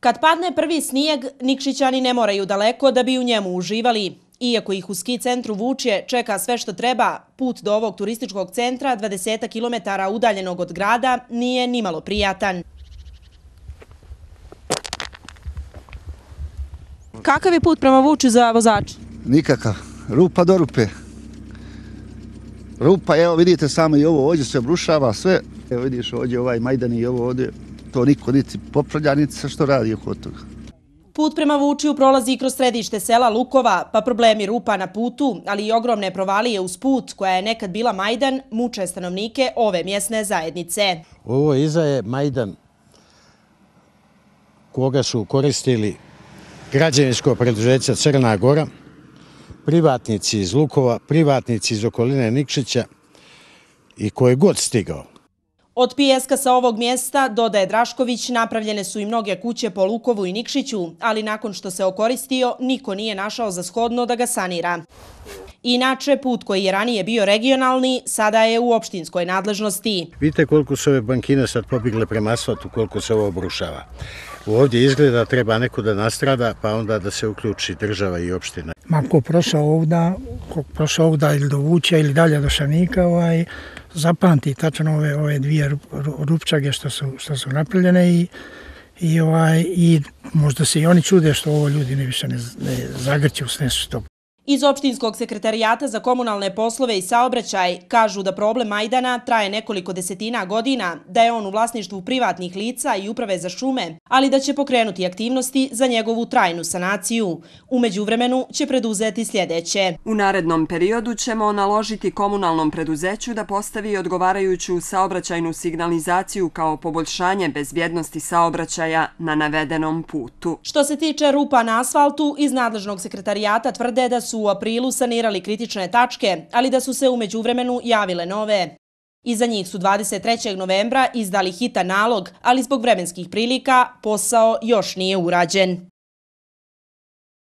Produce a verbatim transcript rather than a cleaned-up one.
Kad padne prvi snijeg, Nikšićani ne moraju daleko da bi u njemu uživali. Iako ih u ski centru Vučje čeka sve što treba, put do ovog turističkog centra, dvadeset kilometara udaljenog od grada, nije nimalo prijatan. Kakav je put prema Vučju za vozača? Nikakav. Rupa do rupe. Rupa, evo vidite samo i ovo ovdje se obrušava sve. Evo vidiš ovdje ovaj Majdan i ovo ovdje. To niko niti popravlja, niti se što radi oko toga. Put prema Vučju prolazi kroz središte sela Lukova, pa problemi rupa na putu, ali i ogromne provalije uz put, koja je nekad bila Majdan, muče stanovnike ove mjesne zajednice. Ovo iza je Majdan koga su koristili građevinsko preduzeće Crna Gora, privatnici iz Lukova, privatnici iz okoline Nikšića i ko je god stigao. Od pijeska sa ovog mjesta, dodaje Drašković, napravljene su i mnoge kuće po Lukovu i Nikšiću, ali nakon što se okoristio, niko nije našao za shodno da ga sanira. Inače, put koji je ranije bio regionalni, sada je u opštinskoj nadležnosti. Vidite koliko su ove bankine sad pobigle prema asfaltu, koliko se ovo obrušava. Ovdje izgleda treba neko da nastrada, pa onda da se uključi država i opština. Ma ko prošao ovda, ko prošao ovda ili do Vučja ili dalje do Šanika, ovaj, zapamti tačno ove, ove dvije rupčage što su, što su napravljene i, i, ovaj, i možda se i oni čude što ovo ljudi ne više ne, ne zagrću s nešto. Iz opštinskog sekretarijata za komunalne poslove i saobraćaj kažu da problem Majdana traje nekoliko desetina godina, da je on u vlasništvu privatnih lica i uprave za šume, ali da će pokrenuti aktivnosti za njegovu trajnu sanaciju. U međuvremenu će preduzeti sljedeće. U narednom periodu ćemo naložiti komunalnom preduzeću da postavi odgovarajuću saobraćajnu signalizaciju kao poboljšanje bezbjednosti saobraćaja na navedenom putu. Što se tiče rupa na asfaltu, iz nadležnog sekretarijata tvrde da su u aprilu sanirali kritične tačke, ali da su se u međuvremenu javile nove. Iza njih su dvadeset trećeg novembra izdali hitan nalog, ali zbog vremenskih prilika posao još nije urađen.